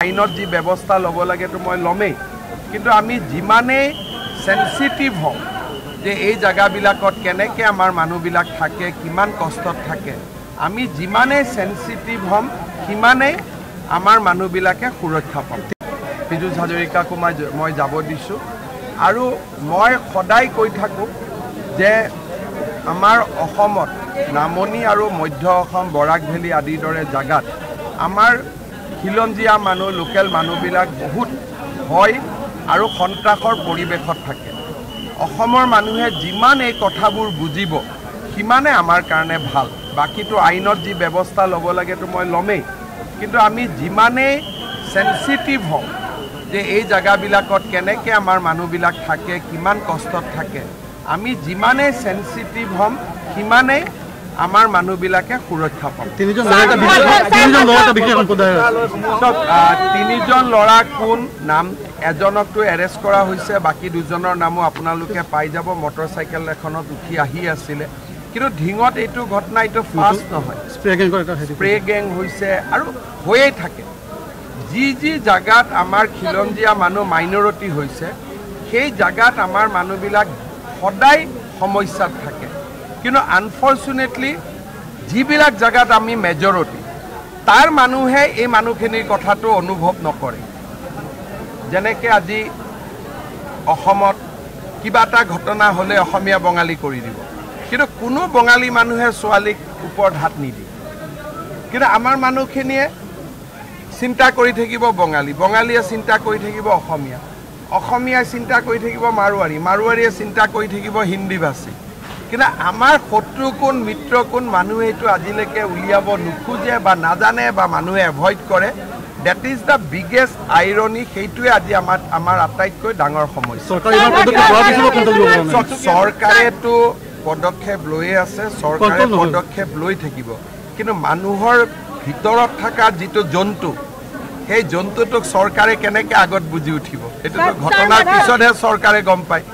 আইনত যি ব্যৱস্থা ল'ব লাগেতো মই ল'মেই, কিন্তু আমি যিমানেই চেঞ্চিটিভ হওঁ যে এই জেগাবিলাকত কেনেকৈ আমাৰ মানুহবিলাক থাকে, কিমান কষ্টত থাকে, আমি যিমানেই চেঞ্চিটিভ হ'ম সিমানেই আমাৰ মানুহবিলাকে সুৰক্ষা পাব। পীযুষ হাজৰিকাকো মই যাব দিছোঁ। আৰু মই সদায় কৈ থাকোঁ যে আমাৰ অসমত নামনি আৰু মধ্য অসম, বৰাক ভেলী আদিৰ দৰে জেগাত আমাৰ খিলঞ্জীয়া মানুহ, লোকেল মানুহবিলাক বহুত ভয় আৰু সন্ত্ৰাসৰ পৰিৱেশত থাকে। অসমৰ মানুহে যিমান এই কথাবোৰ বুজিব সিমানে আমাৰ কাৰণে ভাল। বাকীটো আইনত যি ব্যৱস্থা ল'ব লাগেতো মই ল'মেই, কিন্তু আমি যিমানেই চেঞ্চিটিভ হওঁ যে এই জেগাবিলাকত কেনেকৈ আমাৰ মানুহবিলাক থাকে, কিমান কষ্টত থাকে, আমি যিমানেই চেঞ্চিটিভ হ'ম সিমানেই আমাৰ মানুহবিলাকে সুৰক্ষা পাব। তিনিজন ল'ৰা কোন নাম, এজনকতো এৰেষ্ট কৰা হৈছে, বাকী দুজনৰ নামো আপোনালোকে পাই যাব। মটৰচাইকেল এখনত উঠি আহি আছিলে। কিন্তু ঢিঙত এইটো ঘটনা এইটো ফাৰ্ষ্ট নহয়, স্প্ৰে গেং হৈছে আৰু হৈয়ে থাকে। যি যি জাগাত আমাৰ খিলঞ্জীয়া মানুহ মাইনৰিটি হৈছে সেই জাগাত আমাৰ মানুহবিলাক সদায় সমস্যাত থাকে। কিন্তু আনফৰ্চুনেটলি যিবিলাক জাগাত আমি মেজৰিটি, তাৰ মানুহে এই মানুহখিনিৰ কথাটো অনুভৱ নকৰে। যেনেকৈ আজি অসমত কিবা এটা ঘটনা হ'লে অসমীয়া বঙালী কৰি দিব, কিন্তু কোনো বঙালী মানুহে ছোৱালীক ওপৰত হাত নিদিয়ে। কিন্তু আমাৰ মানুহখিনিয়ে চিন্তা কৰি থাকিব বঙালী, বঙালীয়ে চিন্তা কৰি থাকিব অসমীয়া, অসমীয়াই চিন্তা কৰি থাকিব মাৰোৱাৰী, মাৰোৱাৰীয়ে চিন্তা কৰি থাকিব হিন্দীভাষী। কিন্তু আমাৰ শত্ৰু কোন, মিত্ৰ কোন, মানুহে এইটো আজিলৈকে উলিয়াব নোখোজে বা নাজানে বা মানুহে এভইড কৰে। That is the biggest irony. সেইটোৱে আজি আমাৰ আটাইতকৈ ডাঙৰ সমস্যা। চৰকাৰেতো পদক্ষেপ লৈয়ে আছে, চৰকাৰে পদক্ষেপ লৈ থাকিব, কিন্তু মানুহৰ ভিতৰত থকা যিটো জন্তু, সেই জন্তুটোক চৰকাৰে কেনেকৈ আগত বুজি উঠিব? এইটোতো ঘটনাৰ পিছতহে চৰকাৰে গম পায়।